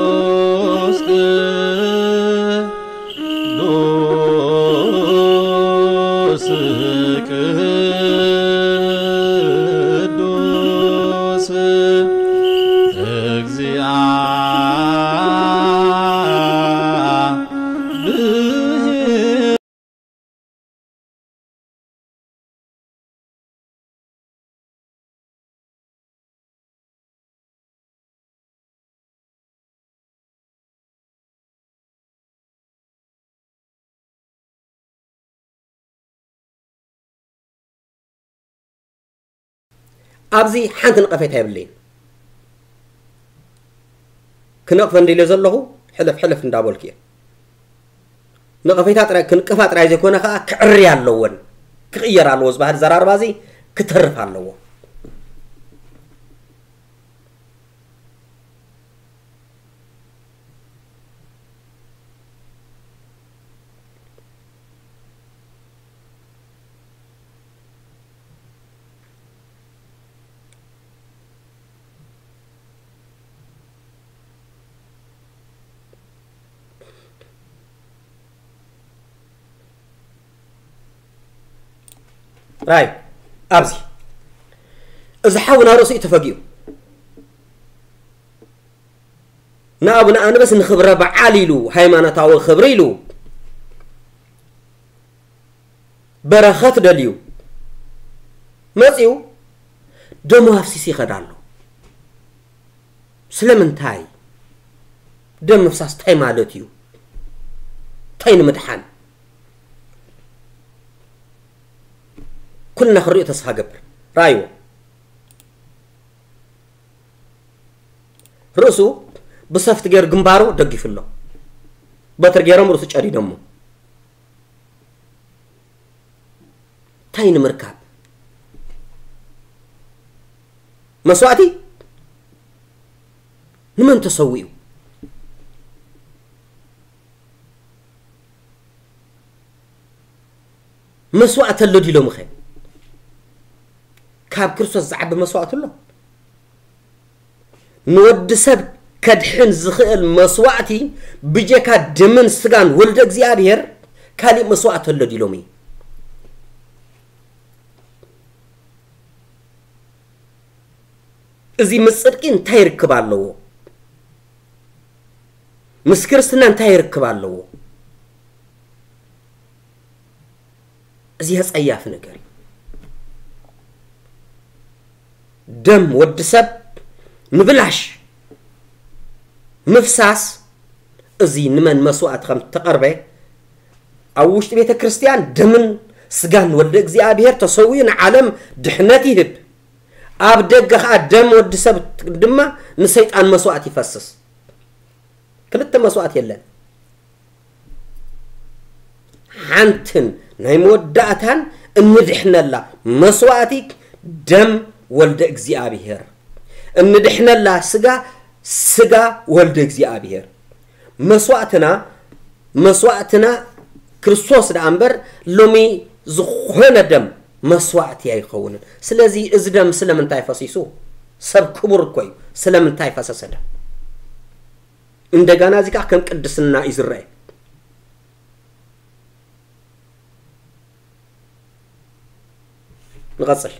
ቅዱስ ቅዱስ ቅዱስ እግዚአብሔር። ኣብዚ ሓንቲ ነቐፌታ የብለይን። ክነቕፈ እንድለ ዘለኹ ሕልፍ ሕልፍ እንዳበልኩ እየ። ነቐፌታ ጥራይ ክንቅፋ ጥራይ ዘይኮነ ከዓ ክዕሪ ኣለወን፣ ክቕየር ኣለዎ። ዝበሃል ዘራርባ እዚ ክተርፍ ኣለዎ። ራይ ኣብዚ እዚ ሓውና ርእሱ እዩ ተፈጊኡ። ንኣቡነ ኣንበስ ንኽብረ በዓል ኢሉ፣ ሃይማኖታዊ ክብሪ ኢሉ፣ በረኸት ደልዩ መጺኡ ደሙ ኣፍሲሱ ይኸድ ኣሎ። ስለምንታይ? ደም ምፍሳስ እንታይ ማለት እዩ? እንታይ ንምድሓን? ኩልና ክንሪኦ ተስፋ ገብር። ራእይዎ። ርእሱ ብሰፍት ገይሩ ግንባሩ ደጊፉ ኣሎ። በትሪ ገይሮም ርእሱ ጨዲዶሞ። እንታይ ንምርካብ? መስዋእቲ ንመን ተሰዊኡ? መስዋእቲ ኣሎ ዲሎምኸ? ካብ ክርስቶስ ዝዓቢ መስዋእቲ ኣሎ? ንወዲ ሰብ ከድሕን ዝኽእል መስዋእቲ ብጀካ ደምን ስጋን ወልደ እግዚኣብሔር ካሊእ መስዋእቲ ኣሎ ዲሎም እዩ። እዚ ምስ ጽድቂ እንታይ ርክብ ኣለዎ? ምስ ክርስትና እንታይ ርክብ ኣለዎ? እዚ ኣጸያፊ ነገር እዩ። ደም ወዲ ሰብ ንብላሽ ምፍሳስ፣ እዚ ንመን መስዋእቲ ከም እተቐርበ፣ ኣብ ውሽጢ ቤተ ክርስቲያን ደምን ስጋን ወልደ እግዚኣብሔር ተሰዊኡ ንዓለም ድሕነት ይህብ። ኣብ ደገ ኸኣ ደም ወዲ ሰብ ድማ ንሰይጣን መስዋእቲ ይፈስስ። ክልተ መስዋእቲ የለን። ሓንትን ናይ መወዳእታን እንድሕነላ መስዋእቲ ደም ወልደ እግዚኣብሔር። እንድሕነላ ስጋ፣ ስጋ ወልደ እግዚኣብሔር። መስዋእትና፣ መስዋእትና ክርስቶስ ደኣ እምበር ሎሚ ዝኾነ ደም መስዋእቲ ኣይኸውንን። ስለዚ እዚ ደም ስለምንታይ ፈሲሱ? ሰብ ክቡር እኮ እዩ። ስለምንታይ ፈሰሰ ደም? እንደገና እዚ ከዓ ከም ቅድስና እዩ ዝረአ። ንቐጽል።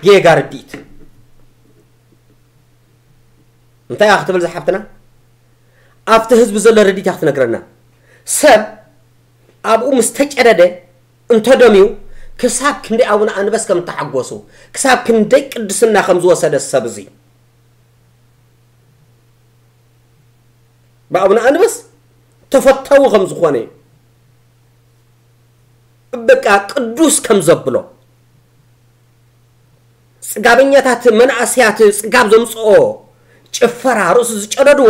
ጌጋ ርድኢት እንታይ እያ ክትብል ዝሓፍትና? ኣብቲ ህዝቢ ዘሎ ርድኢት እያ ክትነግረና። ሰብ ኣብኡ ምስ ተጨደደ እንተደምዩ ክሳብ ክንደይ ኣቡነ ኣንበስ ከም እተሓጎሱ፣ ክሳብ ክንደይ ቅድስና ከም ዝወሰደ ሰብ እዚ ብኣቡነ ኣንበስ ተፈታዊ ከም ዝኾነ፣ በቃ ቅዱስ ከም ዘብሎ፣ ጽጋበኛታት መናእሰያት ጽጋብ ዘምጽኦ ጭፈራ ርእሱ ዝጨደድዎ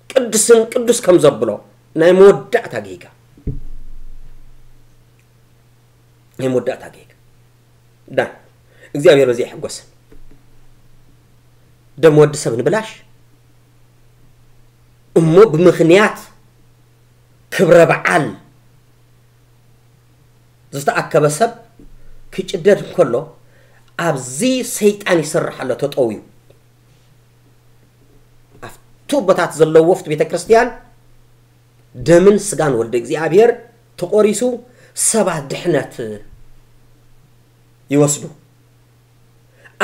ቅዱስን ቅዱስ ከም ዘብሎ ናይ መወዳእታ ጌጋ፣ ናይ መወዳእታ ጌጋ። ዳ እግዚኣብሔር በዚ ይሕጎስ። ደም ወዲ ሰብ ንብላሽ እሞ ብምኽንያት ክብረ በዓል ዝተኣከበ ሰብ ክጭደድ እንከሎ ኣብዚ ሰይጣን ይሰርሕ ኣሎ ተጠውዩ ኣብቲ ቦታት ዘለዎ ኣብቲ ቤተ ክርስቲያን ደምን ስጋን ወልደ እግዚኣብሔር ተቆሪሱ ሰባት ድሕነት ይወስዱ።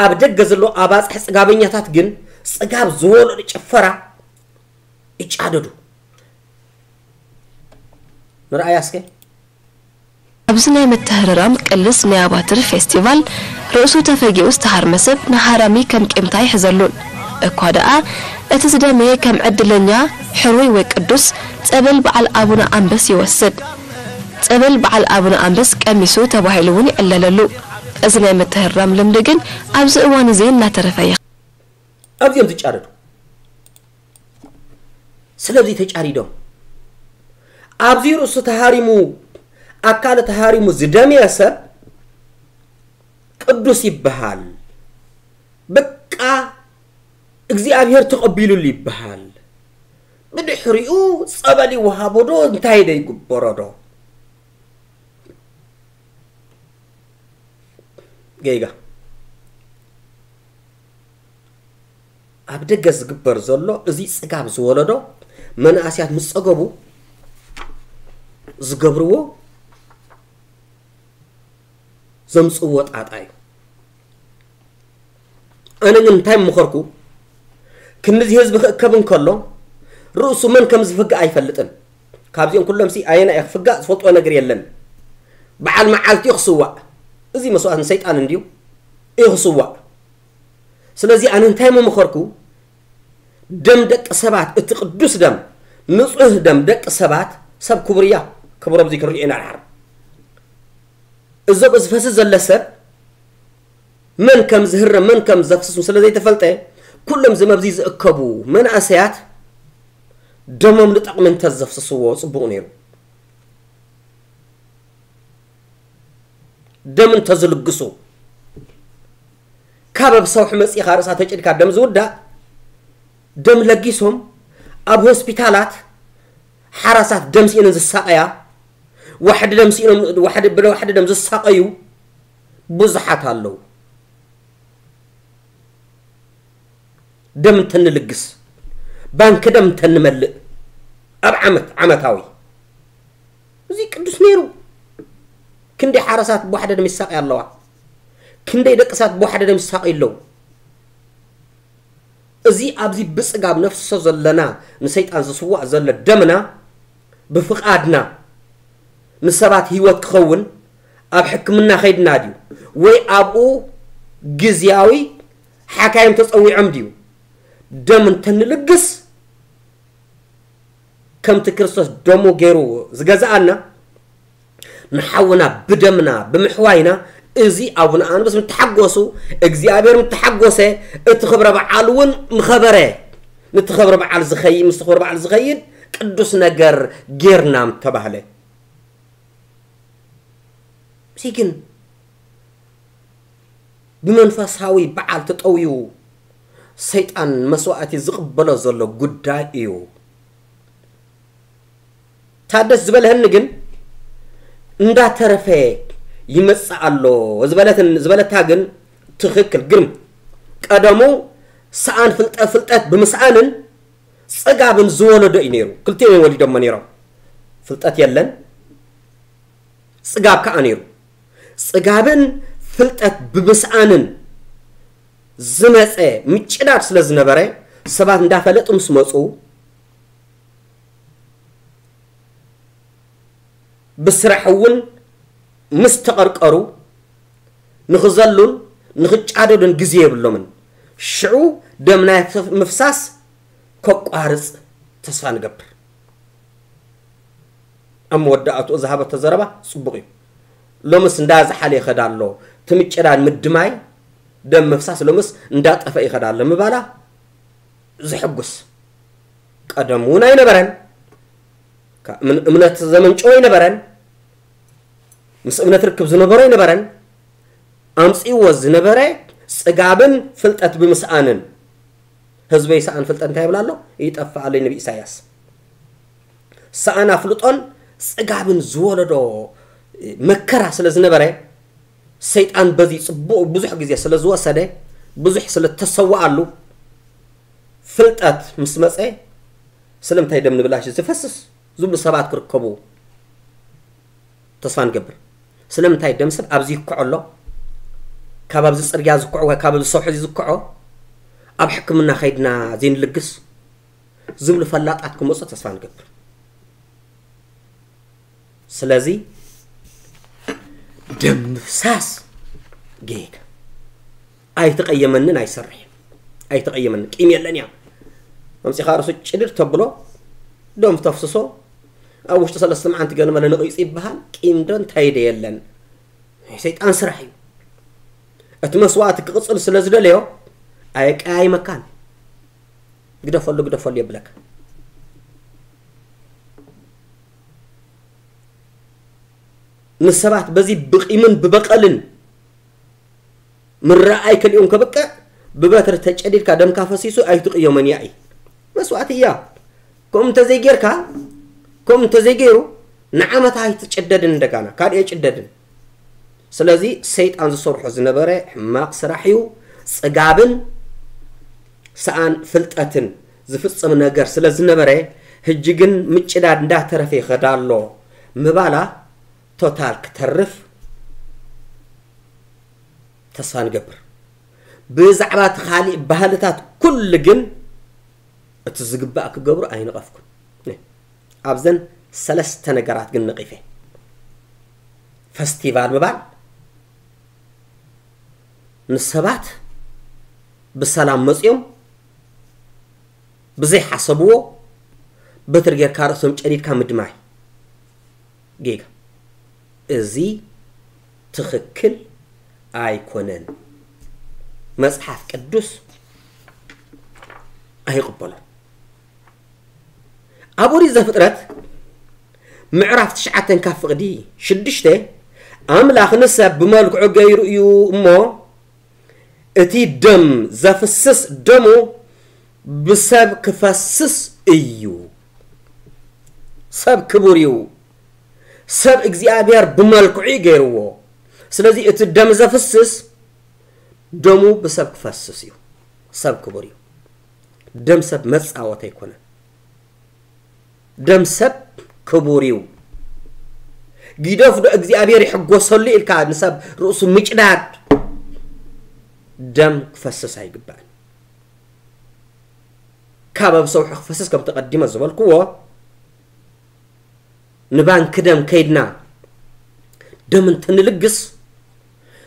ኣብ ደገ ዘሎ ኣባፅሕ ፅጋበኛታት ግን ፅጋብ ዝወለዱ ጭፈራ ይጫደዱ። ንርኣያ እስከ። ኣብዚ ናይ ምትህርራም ቅልስ ናይ ኣባትር ፌስቲቫል ርእሱ ተፈጊኡ ዝተሃርመ ሰብ ንሃራሚ ከም ቂምታ ኣይሕዘሉን። እኳ ደኣ እቲ ዝደመየ ከም ዕድለኛ፣ ሕሩይ ወይ ቅዱስ ጸበል በዓል ኣቡነ ኣንበስ ይወስድ። ጸበል በዓል ኣቡነ ኣንበስ ቀሚሱ ተባሂሉ እውን ይዕለለሉ። እዚ ናይ ምትህርራም ልምዲ ግን ኣብዚ እዋን እዚ እናተረፈ ይኸ። ኣብዚኦም ዝጫረዱ ስለዚ ተጫሪዶም ኣብዚ ርእሱ ተሃሪሙ ኣካለ ተሃሪሙ ዝደመየ ሰብ ቅዱስ ይበሃል። በቃ እግዚኣብሔር ተቐቢሉሉ ይበሃል። ብድሕሪኡ ጸበል ይወሃቦ ዶ እንታይ ዶ ይግበሮ ዶ? ጌጋ ኣብ ደገ ዝግበር ዘሎ እዚ ጽጋብ ዝወለዶ መናእስያት ምስ ጸገቡ ዝገብርዎ ዘምጽዎ ጣጣ እዩ። ኣነ ግን እንታይ ምመኸርኩ ክንድዚ ህዝቢ ክእከብ እንከሎ ርእሱ መን ከም ዝፍጋእ ኣይፈልጥን። ካብዚኦም ኩሎም ሲ ኣየና እዩ ክፍጋእ ዝፈልጥዎ ነገር የለን። በዓል መዓልቲ እዩ ክስዋእ። እዚ መስዋእት ንሰይጣን እንድዩ እዩ ክስዋእ። ስለዚ ኣነ እንታይ ምመኸርኩ ደም ደቂ ሰባት እቲ ቅዱስ ደም ንጹህ ደም ደቂ ሰባት ሰብ ክቡር እያ ክብሮም እዚ ክንሪኦ ኢና ድሓር እዞም ዝፈስስ ዘለ ሰብ መን ከም ዝህረም መን ከም ዘፍስሱ ስለ ዘይተፈልጠ ኩሎም ዝመብዚ ዝእከቡ መናእሰያት ደሞም ንጠቕሚ እንተዘፍስስዎ ጽቡቕ ነይሩ። ደም እንተዝልግሱ ካብ ኣብ ሰውሒ መጺኻ ርእሳ ተጭድካ ደም ዝውዳእ ደም ለጊሶም ኣብ ሆስፒታላት ሓራሳት ደም ስኢነን ዝሳቐያ ዋሕዲ ደም ስኢኖም ዋሕዲ ብለ ዋሕዲ ደም ዝሳቐዩ ብዙሓት ኣለዉ። ደም እንተንልግስ ባንክ ደም እንተንመልእ ኣብ ዓመት ዓመታዊ እዚ ቅዱስ ነይሩ። ክንደይ ሓረሳት ብዋሕደ ደም ይሳቐያ ኣለዋ። ክንደይ ደቅሳት ብዋሕደ ደም ይሳቐዩ ኣለዉ። እዚ ኣብዚ ብጽጋብ ነፍስሶ ዘለና ንሰይጣን ዝስዋእ ዘሎ ደምና ብፍቓድና ንሰባት ህይወት ክኸውን ኣብ ሕክምና ከይድና ድዩ ወይ ኣብኡ ግዝያዊ ሓካይም ተጸዊዖም ድዩ ደም እንተንልግስ ከምቲ ክርስቶስ ደሙ ገይሩ ዝገዝኣና ንሓውና ብደምና ብምሕዋይና እዚ ኣቡነ ኣንብስ ምተሓጎሱ እግዚኣብሔር ምተሓጎሰ እቲ ክብረ በዓል እውን ምኸበረ። ነቲ ክብረ በዓል ዝኸይድ ምስቲ ክብረ በዓል ዝኸይድ ቅዱስ ነገር ጌርና ምተባህለ። እዚ ግን ብመንፈሳዊ በዓል ተጠውዩ ሰይጣን መስዋእቲ ዝቕበሎ ዘሎ ጉዳይ እዩ። ታደስ ዝበለህኒ ግን እንዳተረፈ ይመጽእ ኣሎ ዝበለትን ዝበለታ ግን ትኽክል ግን ቀደሙ ሰኣን ፍልጠት ፍልጠት ብምስኣንን ጽጋብን ዝወለዶ እዩ ነይሩ። ክልቲኦም እዮም ወሊዶሞ ነይሮም። ፍልጠት የለን ጽጋብ ከዓ ነይሩ። ጽጋብን ፍልጠት ብምስኣንን ዝመጸ ምጭዳድ ስለ ዝነበረ ሰባት እንዳፈለጡ ምስ መጹ ብስራሕ እውን ምስ ተቐርቀሩ ንኽዘሉን ንኽጫደዱን ግዜ የብሎምን። ሽዑ ደም ናይ ምፍሳስ ከቋርጽ ተስፋ ንገብር። ኣብ መወዳእትኡ ዝሃበቶ ዘረባ ጽቡቕ እዩ። ሎምስ እንዳ ዝሓለ ይኸዳ ኣሎ፣ እቲ ምጭዳድ ምድማይ ደም ምፍሳስ ሎምስ እንዳጠፈ ይኸዳ ኣሎ ምባላ ዘሐጉስ ቀደም እውን ኣይነበረን። እምነት ዘመንጨወ ኣይነበረን። ምስ እምነት ርክብ ዝነበሮ ኣይነበረን። ኣምጺእዎ ዝነበረ ጽጋብን ፍልጠት ብምስኣንን ህዝበይ ሰኣን ፍልጠት እንታይ ይብል ኣሎ? ይጠፍእ ኣሎ ነቢ ኢሳያስ። ሰኣን ኣፍልጦን ጽጋብን ዝወለዶ መከራ ስለ ዝነበረ፣ ሰይጣን በዚ ጽቡቕ ብዙሕ ግዜ ስለ ዝወሰደ፣ ብዙሕ ስለ ተሰዋኣሉ፣ ፍልጠት ምስ መጸ፣ ስለምንታይ ደም ንብላሽ ዝፈስስ ዝብሉ ሰባት ክርከቡ ተስፋ ንገብር። ስለምንታይ ደም ሰብ ኣብዚ ይኩዖ ኣሎ? ካብ ኣብዚ ጽርግያ ዝኩዖ ወይ ካብ ኣብዚ ሰውሒ ዝኩዖ ኣብ ሕክምና ከይድና ዘይንልግስ ዝብሉ ፈላጣት ክመጹ ተስፋ ንገብር። ስለዚ ደም ምፍሳስ ጌጋ ኣይተቐየመንን ኣይሰርሕን። ኣይተቐየመንን። ቂም የለን እያ። መምጺኻ ርእሱ ጭድር ተብሎ፣ ደም ተፍስሶ፣ ኣብ ውሽጢ ሰለስተ መዓልቲ ገለ መለ ነቒጹ ይበሃል። ቂም ዶ እንታይ ዶ የለን። ናይ ሰይጣን ስራሕ እዩ። እቲ መስዋእቲ ክቕጽል ስለ ዝደለዮ ኣየቀያይመካን። ግደፈሉ፣ ግደፈሉ የብለካ። ንሰባት በዚ ብቂምን ብበቐልን ምረኣይ ከሊኦም ከብቅዕ ብበትሪ ተጨዲድካ ደምካ ፈሲሱ ኣይትቕየሞን እያ። መስዋእቲ እያ። ከምኡ እንተዘይጌርካ፣ ከምኡ እንተዘይገይሩ ንዓመት ኣይትጭደድን፣ እንደጋና ካልእ የጭደድን። ስለዚ ሰይጣን ዝሰርሖ ዝነበረ ሕማቕ ስራሕ እዩ። ጽጋብን ሰኣን ፍልጠትን ዝፍጽም ነገር ስለ ዝነበረ፣ ህጂ ግን ምጭዳድ እንዳተረፈ ይኸዳ ኣሎ ምባላ ቶታል ክተርፍ ተስፋ ንገብር። ብዛዕባ እቲ ካሊእ ባህልታት ኩሉ ግን እቲ ዝግባእ ክገብሩ ኣይነቐፍኩን። ኣብዘን ሰለስተ ነገራት ግን ነቒፈ። ፈስቲቫል ምባል፣ ንሰባት ብሰላም መጽዮም ብዘይሓሰብዎ በትሪ ጌርካ ርእሶም ጨዲድካ ምድማይ ጌጋ። እዚ ትኽክል ኣይኮነን። መጽሓፍ ቅዱስ ኣይቕበሎን። ኣብ ኦሪት ዘፍጥረት ምዕራፍ ትሽዓተን ካብ ፍቕዲ ሽዱሽተ፣ ኣምላኽ ንሰብ ብመልክዑ ገይሩ እዩ እሞ፣ እቲ ደም ዘፍስስ ደሙ ብሰብ ክፈስስ እዩ። ሰብ ክቡር እዩ። ሰብ እግዚኣብሔር ብመልክዑ እዩ ገይርዎ። ስለዚ እቲ ደም ዘፍስስ ደሙ ብሰብ ክፈስስ እዩ። ሰብ ክቡር እዩ። ደም ሰብ መጻወት ኣይኮነን። ደም ሰብ ክቡር እዩ። ጊደፍ ዶ እግዚኣብሔር ይሕጎሰሉ ኢልካ ንሰብ ርእሱ ምጭዳድ፣ ደም ክፈስስ ኣይግባእን። ካብ ኣብ ሰውሒ ክፈስስ ከም ተቐዲመ ዝበልክዎ፣ ንባንክ ደም ከይድና ደም እንተንልግስ፣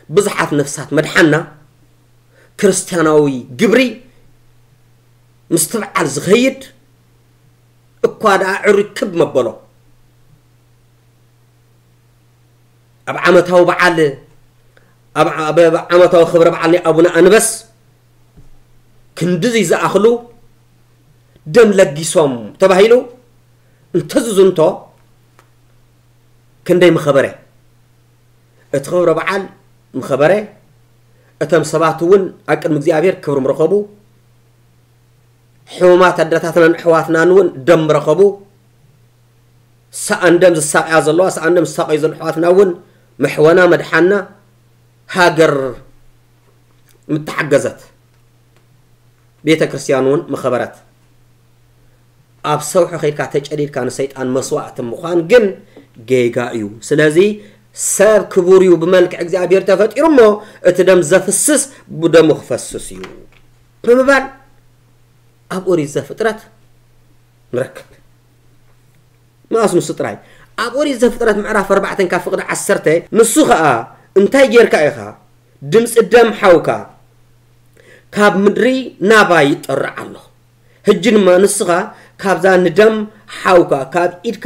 ብዙሓት ነፍሳት መድሓና። ክርስትያናዊ ግብሪ ምስትብዓል ዝኸይድ እኳ ደኣ ዕሩይ ክብ መበሎ። ኣብ ዓመታዊ በዓል፣ ኣብ፣ ኣብ፣ ኣብ ዓመታዊ ክብረ በዓል ናይ ኣቡነ ኣንበስ ክንድዚ ዝኣኽሉ ደም ለጊሶም ተባሂሉ እንተዝዝንቶ ክንደይ ምኸበረ። እቲ ክብረ በዓል ምኸበረ፣ እቶም ሰባት እውን ኣብ ቅድሚ እግዚኣብሔር ክብሪ ምረኸቡ፣ ሕሙማት ኣደታትናን ኣሕዋትናን እውን ደም ምረኸቡ፣ ሰኣን ደም ዝሳቕያ ዘለዋ፣ ሰኣን ደም ዝሳቐዩ ዘለዉ ኣሕዋትና እውን ምሕወና፣ መድሓና፣ ሃገር ምተሓገዘት፣ ቤተ ክርስቲያን እውን ምኸበረት። ኣብ ሰውሒ ከይድካ ተጨዲድካ ንሰይጣን መስዋእቲ ምዃን ግን ጌጋ እዩ። ስለዚ ሰብ ክቡር እዩ፣ ብመልክዕ እግዚኣብሔር ተፈጢሩ እሞ እቲ ደም ዘፍስስ ብደሙ ክፈስስ እዩ ብምባል ኣብ ኦሪት ዘፍጥረት ንረክብ። መኣስ ንሱ ጥራይ። ኣብ ኦሪት ዘፍጥረት ምዕራፍ ኣርባዕተ ካብ ፍቕዲ ዓሰርተ፣ ንሱ ኸኣ፣ እንታይ ጌርካ ኢኻ? ድምጺ ደም ሓውካ ካብ ምድሪ ናባይ ይጠርዕ ኣሎ። ሕጂ ድማ ንስኻ ካብዛ ንደም ሓውካ ካብ ኢድካ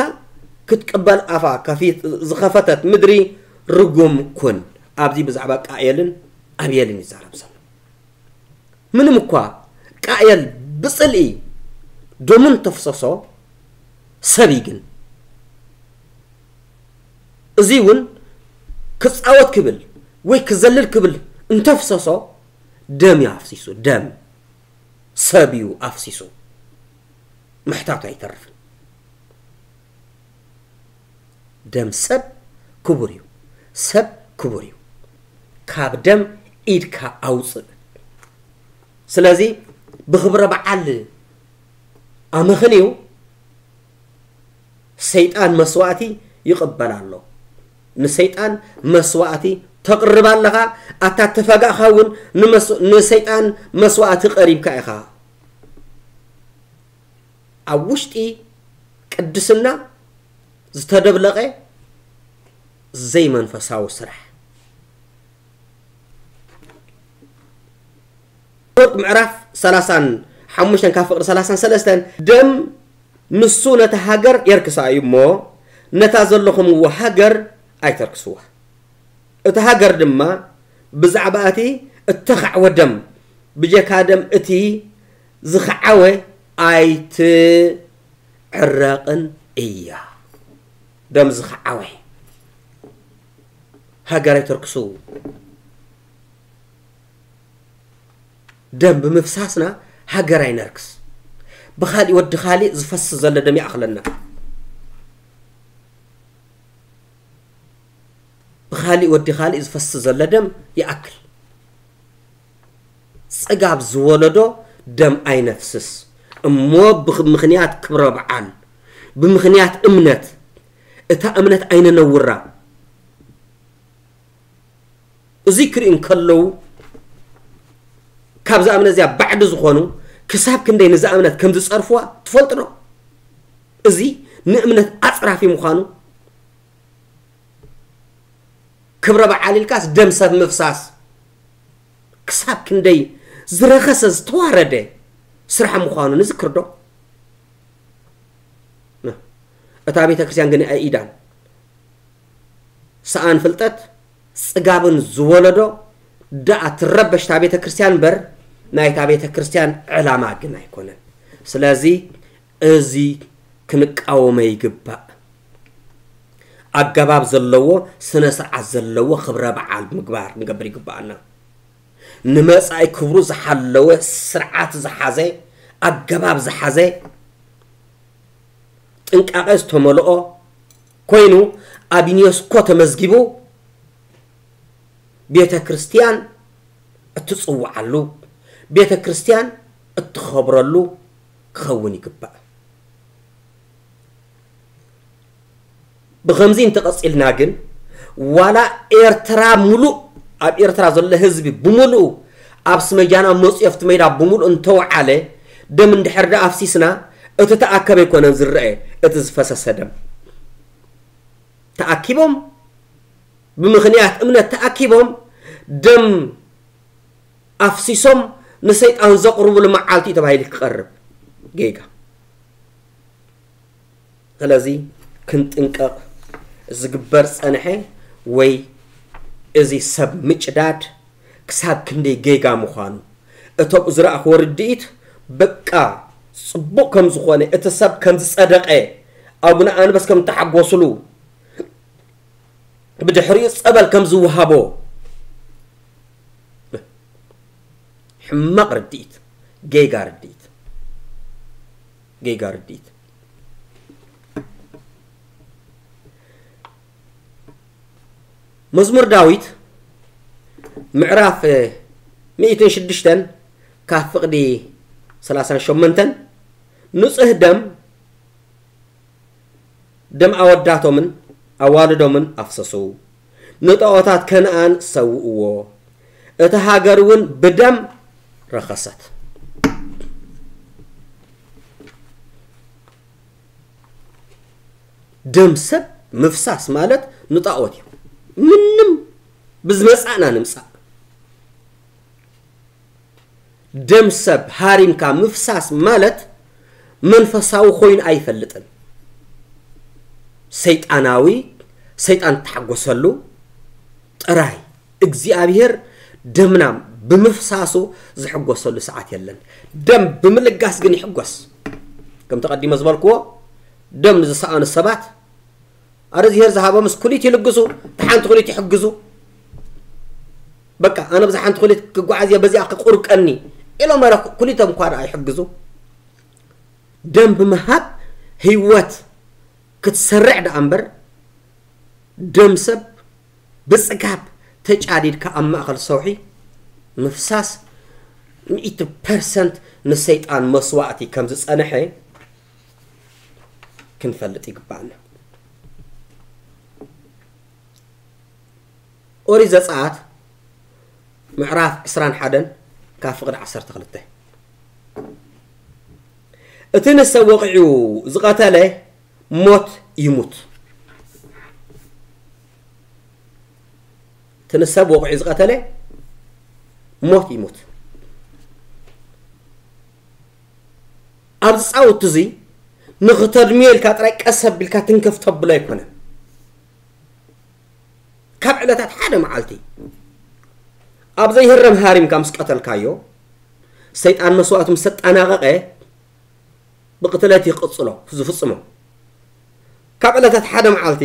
ክትቅበል ኣፋ ከፊት-፣ ዝኸፈተት ምድሪ ርጉም ኩን። ኣብዚ ብዛዕባ ቃየልን ኣቤልን ይዛረብ ዘሎ። ምንም እኳ ቃየል ብጽልኢ ደሙ እንተፍሰሶ፣ ሰብ እዩ ግን። እዚ እውን ክጻወት ክብል ወይ ክዘልል ክብል እንተፍሰሶ፣ ደም እዩ ኣፍሲሱ፣ ደም። ሰብ እዩ ኣፍሲሱ። ምሕታቱ ኣይተርፍን። ደም ሰብ ክቡር እዩ። ሰብ ክቡር እዩ። ካብ ደም ኢድካ ኣውፅእ። ስለዚ ብኽብረ በዓል ኣመኽንዩ ሰይጣን መስዋእቲ ይቕበል ኣሎ። ንሰይጣን መስዋእቲ ተቕርብ ኣለኻ። ኣታ ተፈጋእኻ እውን ንመስ-፣ ንሰይጣን መስዋእቲ ቀሪብካ ኢኻ። ኣብ ውሽጢ ቅድስና ዝተደብለቐ ዘይመንፈሳዊ ስራሕ። ምዕራፍ ሰላሳን ሓሙሽተን ካብ ፍቕሪ ሰላሳን ሰለስተን፣ ደም ንሱ ነታ ሃገር የርክሳ እዩ እሞ፣ ነታ ዘለኹምዎ ሃገር ኣይተርክስዋ። እታ ሃገር ድማ ብዛዕባ እቲ እተኻዕወ ደም፣ ብጀካ ደም እቲ ዝኸዓወ ኣይትዕረቕን እያ። ደም ዝኸዓወ ሃገር ኣይተርክሱ። ደም ብምፍሳስና ሃገር ኣይነርክስ። ብኻሊእ ወዲ ኻሊእ ዝፈስ ዘሎ ደም ይኣኽለና። ብኻሊእ ወዲ ኻሊእ ዝፈስ ዘሎ ደም ይኣክል። ጽጋብ ዝወለዶ ደም ኣይነፍስስ እሞ፣ ብምኽንያት ክብረ በዓል፣ ብምኽንያት እምነት፣ እታ እምነት ኣይነነውራ። እዚ ክርእዩ እንከለዉ፣ ካብዛ እምነት እዚኣ ባዕዲ ዝኾኑ ክሳብ ክንደይ ነዛ እምነት ከም ዝጸርፍዋ ትፈልጡ ዶ? እዚ ንእምነት ኣጽራፊ ምዃኑ፣ ክብረ በዓል ኢልካስ ደም ሰብ ምፍሳስ ክሳብ ክንደይ ዝረኸሰ ዝተዋረደ ስራሕ ምዃኑ ንዝክር ዶ? እታ ቤተ ክርስቲያን ግን ኣይኢዳን። ሰኣን ፍልጠት ጽጋብን ዝወለዶ ደኣ ትረበሽ እታ ቤተ ክርስቲያን እምበር፣ ናይታ ቤተ ክርስቲያን ዕላማ ግን ኣይኮነን። ስለዚ እዚ ክንቃወሞ ይግባእ። ኣገባብ ዘለዎ፣ ስነ ስርዓት ዘለዎ ክብረ በዓል ምግባር፣ ንገብር ይግባኣና። ንመጻኢ ክብሩ ዝሓለወ፣ ስርዓት ዝሓዘ፣ ኣገባብ ዝሓዘ፣ ጥንቃቐ ዝተመልኦ ኮይኑ ኣብ ዩኔስኮ ተመዝጊቡ፣ ቤተ ክርስቲያን እትጽውዓሉ፣ ቤተ ክርስቲያን እትኸብረሉ ክኸውን ይግባእ። ብኸምዚ እንተቐጺልና ግን፣ ዋላ ኤርትራ ሙሉእ፣ ኣብ ኤርትራ ዘሎ ህዝቢ ብምሉኡ ኣብ ስመጃና መፂኡ ኣብቲ ሜዳ ብምሉእ እንተወዓለ፣ ደም እንድሕር ደኣ ኣፍሲስና፣ እቲ ተኣከበ ኣይኮነን ዝረአ፣ እቲ ዝፈሰሰ ደም። ተኣኪቦም፣ ብምኽንያት እምነት ተኣኪቦም፣ ደም ኣፍሲሶም ንሰይጣን ዘቕርብሉ መዓልቲ እዩ ተባሂሉ ክቐርብ። ጌጋ። ስለዚ ክንጥንቀቕ ዝግበር ጸንሐ ወይ እዚ ሰብ ምጭዳድ ክሳብ ክንደይ ጌጋ ምዃኑ፣ እቶም ዝረኣኽዎ ርድኢት በቃ ጽቡቕ ከም ዝኾነ፣ እቲ ሰብ ከም ዝጸደቐ፣ ኣቡነ ኣንበስ ከም እተሓጎስሉ፣ ብድሕሪኡ ጸበል ከም ዝወሃቦ፣ ሕማቕ ርድኢት፣ ጌጋ ርድኢት፣ ጌጋ ርድኢት። መዝሙር ዳዊት ምዕራፍ ሚእትን ሽዱሽተን ካብ ፍቕዲ ሰላሳን ሸሞንተን፣ ንጹህ ደም፣ ደም ኣወዳቶምን ኣዋልዶምን ኣፍሰሱ፣ ንጣኦታት ከነኣን ሰውእዎ፣ እታ ሃገር እውን ብደም ረኸሰት። ደም ሰብ ምፍሳስ ማለት ንጣኦት እዩ። ምንም ብዝመጻእና ንምጻእ። ደም ሰብ ሃሪምካ ምፍሳስ ማለት መንፈሳዊ ኮይኑ ኣይፈልጥን። ሰይጣናዊ፣ ሰይጣን እተሓጎሰሉ ጥራይ። እግዚኣብሔር ደምና ብምፍሳሱ ዝሕጎሰሉ ሰዓት የለን። ደም ብምልጋስ ግን ይሕጎስ። ከምቲ ቀዲመ ዝበልክዎ፣ ደም ንዝሰኣኑ ሰባት፣ ኣረ እግዚኣብሔር ዝሃቦምስ ኩሊት ይልግሱ፣ እታ ሓንቲ ኩሊት ይሕግዙ። በቃ፣ ኣነ ብዛ ሓንቲ ኩሊት ክጓዓዝ እየ፣ በዚኣ ክቁርቀኒ። ኢሎም ረ ኩሊቶም እኳ ደኣ ይሕግዙ። ደም ብምሃብ ህይወት ክትሰርዕ ደኣ እምበር፣ ደም ሰብ ብጽጋብ ተጫዲድካ ኣብ ማእኸል ሰውሒ ምፍሳስ ሚእቲ ፐርሰንት ንሰይጣን መስዋእቲ ከም ዝጸንሐ ክንፈልጥ ይግባኣና። ኦሪት ዘጸኣት ምዕራፍ ዕስራን ሓደን ካብ ፍቕዲ ዓሰርተ ክልተ፣ እቲ ንሰብ ወቒዑ ዝቐተለ ሞት ይሙት። እቲ ንሰብ ወቒዑ ዝቐተለ ሞት ይሙት። ኣብዚ ጻውቲ እዚ ንኽተድምዮ ኢልካ ጥራይ ቀስ ኣቢልካ ትንከፍ ተብሎ ኣይኮነን። ካብ ዕለታት ሓደ መዓልቲ ኣብ ዘይህረም ሃሪምካ ምስ ቀተልካዮ፣ ሰይጣን መስዋእቱ ምስ ኣጠናቐቐ፣ ብቕትለት ይቕጽሎ ዝፍጽሞ። ካብ ዕለታት ሓደ መዓልቲ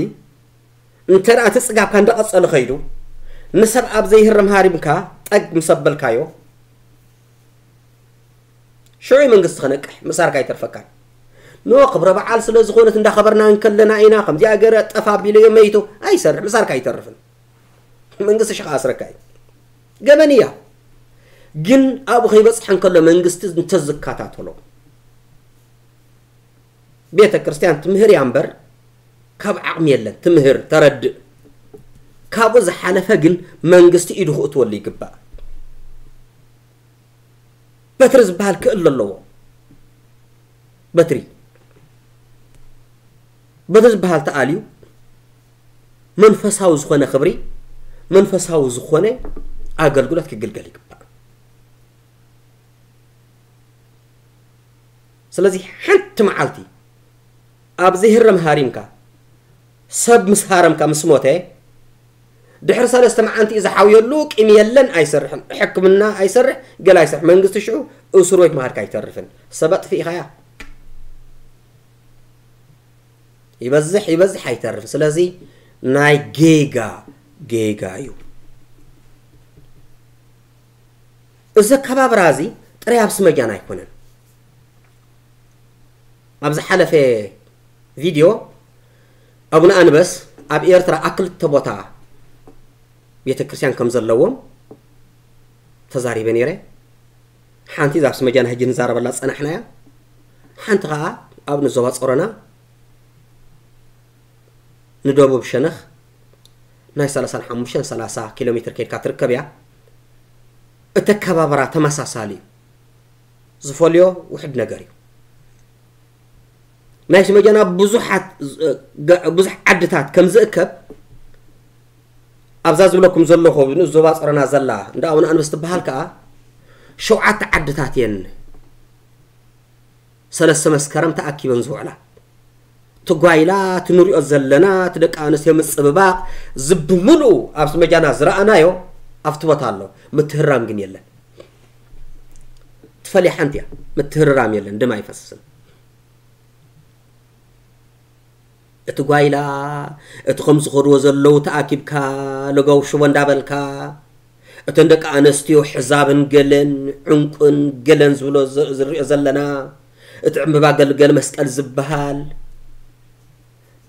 እንተ ደኣ እቲ ጽጋብካ እንዳቐጸለ ኸይዱ፣ ንሰብ ኣብ ዘይህረም ሃሪምካ ጠግ ምስ ኣበልካዮ፣ ሽዑ መንግስቲ ክነቅሕ ምሳርካ ኣይተርፈካን። ኖ ክብረ በዓል ስለ ዝኾነት እንዳኸበርና እንከለና ኢና ከምዚኣ ገረ ጠፍ ኣቢለዮ መይቱ ኣይሰርሕ፣ ምሳርካ ኣይተርፍን። መንግስቲ ሽኻ ኣስረካ እዩ። ገበን እያ። ግን ኣብኡ ከይበጽሐ እንከሎ መንግስቲ እንተዝከታተሎ፣ ቤተ ክርስቲያን ትምህር እያ እምበር ካብ ዓቕሚ የለን። ትምህር፣ ተረድእ። ካብኡ ዝሓለፈ ግን መንግስቲ ኢዱ ክእትወሉ ይግባእ። በትሪ ዝበሃል ክእለ ኣለዎ። በትሪ፣ በትሪ ዝበሃል ተኣልዩ መንፈሳዊ ዝኾነ ክብሪ፣ መንፈሳዊ ዝኾነ ኣገልግሎት ክግልገል ይግባእ። ስለዚ ሓንቲ መዓልቲ ኣብ ዘይህረም ሃሪምካ፣ ሰብ ምስ ሃረምካ ምስ ሞተ፣ ድሕሪ ሰለስተ መዓልቲ እዩ ዝሓውየሉ፣ ቂም የለን፣ ኣይሰርሕን፣ ሕክምና ኣይሰርሕ፣ ገለ ኣይሰርሕ፣ መንግስቲ ሽዑ እስር ቤት ምኻድካ ኣይተርፍን። ሰብ ኣጥፊእኻያ። ይበዝሕ ይበዝሕ ኣይተርፍን። ስለዚ ናይ ጌጋ ጌጋ እዩ። እዚ ኣከባብራ እዚ ጥራይ ኣብ ስመጃን ኣይኮነን። ኣብ ዝሓለፈ ቪድዮ ኣቡነ ኣንበስ ኣብ ኤርትራ ኣብ ክልተ ቦታ ቤተ ክርስቲያን ከም ዘለዎም ተዛሪበ ነይረ። ሓንቲ እዛ ኣብ ስመጃና ሕጂ ንዛረበላ ዝጸናሕና እያ። ሓንቲ ኸኣ ኣብ ንዞባ ጾሮና ንደቡብ ሸነኽ ናይ ሰላሳን ሓሙሽተን ሰላሳ ኪሎ ሜትር ከይድካ ትርከብ እያ። እቲ ኣከባብራ ተመሳሳሊ እዩ። ዝፈልዮ ውሕድ ነገር እዩ። ናይ ስመጃና ብዙሓት፣ ብዙሕ ዓድታት ከም ዝእከብ ኣብዛ ዝብለኩም ዘለኹ ንኡስ ዞባ ጸሮና ዘላ እንዳ ኣቡነ ኣንበስ ትበሃል ከኣ ሸውዓተ ዓድታት እየን ሰለስተ መስከረም ተኣኪበን ዝውዕላ። ትጓይላ፣ ትንሪኦ ዘለና፣ እቲ ደቂ ኣንስትዮ ምጽብባቕ፣ ዝብምልኡ ኣብ ስመጃና ዝረኣናዮ ኣብቲ ቦታ ኣሎ። ምትህራም ግን የለን። ትፈልያ ሓንቲ እያ። ምትህርራም የለን፣ ደም ኣይፈስስን። እቲ ጓይላ፣ እቲ ከም ዝኸድዎ ዘለዉ ተኣኪብካ፣ ለጋው ሽቦ እንዳበልካ፣ እተን ደቂ ኣንስትዮ ሕዛብን ገለን፣ ዕንቁን ገለን ዝብሎ ዝ-፣ ዝሪኦ ዘለና፣ እቲ ዕምባባ ገልገል መስቀል ዝበሃል፣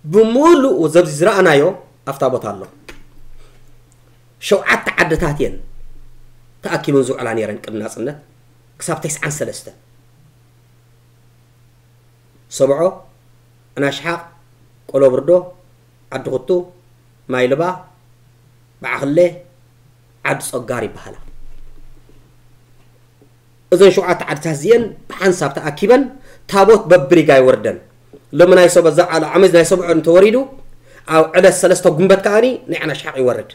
ብምሉኡ ዘብዚ ዝረኣናዮ ኣብታ ቦታ ኣሎ። ሸውዓተ ዓድታት እየን ተኣኪበን ዝውዕላ ነይረን ቅድሚ ናጽነት ክሳብ ተስዓን ሰለስተን። ሰብዖ፣ ዕናሽሓቕ፣ ቆሎብርዶ፣ ዓዲ ኹቱ፣ ማይልባ፣ በዓኽሌ፣ ዓዲ ጾጋር ይበሃላ። እዘን ሸውዓተ ዓድታት እዚአን ብሓንሳብ ተኣኪበን ታቦት በብሪጋ ይወርደን። ሎሚ ናይ ሰበ-፣ እዛ ዓለ-፣ ዓመት ናይ ሰብዖ እንተወሪዱ፣ ኣብ ዕለት ሰለስተ ጉንበት ከኣኒ ናይ ዕናሽሓቕ ይወርድ።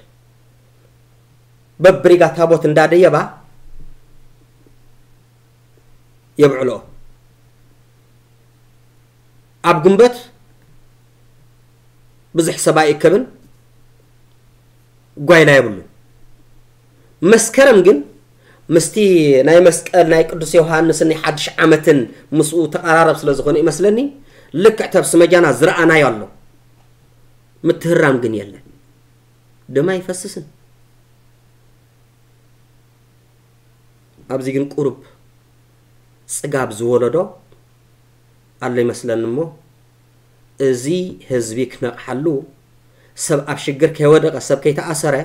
በብሪጋ ታቦት እንዳደየባ የብዕልኦ። ኣብ ጉንበት ብዙሕ ሰብ ኣይእከብን፣ ጓይላ የብሉን። መስከረም ግን ምስቲ ናይ መስቀል ናይ ቅዱስ ዮሃንስን ናይ ሓድሽ ዓመትን ምስኡ ተቐራረብ ስለ ዝኾነ ይመስለኒ፣ ልክዕ ተብ ስመጃና ዝረኣናዮ ኣሎ። ምትህራም ግን የለን። ደም ኣይፈስስን። ኣብዚ ግን ቁሩብ ጽጋብ ዝወለዶ ኣሎ ይመስለኒ እሞ፣ እዚ ህዝቢ ክነቕሓሉ፣ ሰብ ኣብ ሽግር ከይወደቐ፣ ሰብ ከይተኣሰረ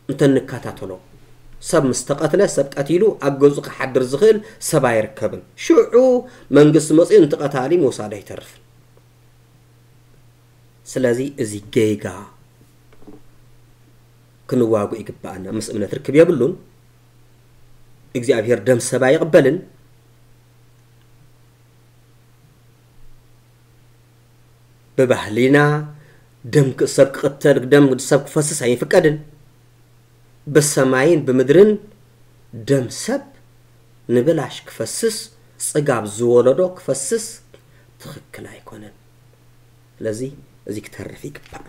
እንተንከታተሎ፣ ሰብ ምስ ተቐትለ፣ ሰብ ቀቲሉ ኣብ ገዝኡ ክሓድር ዝኽእል ሰብ ኣይርከብን። ሽዑ መንግስቲ መጺኡ ነቲ ቀታሊ ምውሳዱ ኣይተርፍን። ስለዚ እዚ ጌጋ ክንዋግኦ ይግብኣና። ምስ እምነት ርክብ የብሉን። እግዚኣብሔር ደም ሰብ ኣይቕበልን። ብባህሊና ደም ክ- ሰብ ክቕተል፣ ደም ሰብ ክፈስስ ኣይፍቀድን። ብሰማይን ብምድርን ደም ሰብ ንብላሽ ክፈስስ፣ ጽጋብ ዝወለዶ ክፈስስ ትኽክል ኣይኮነን። ስለዚ እዚ ክተርፍ ይግባእ።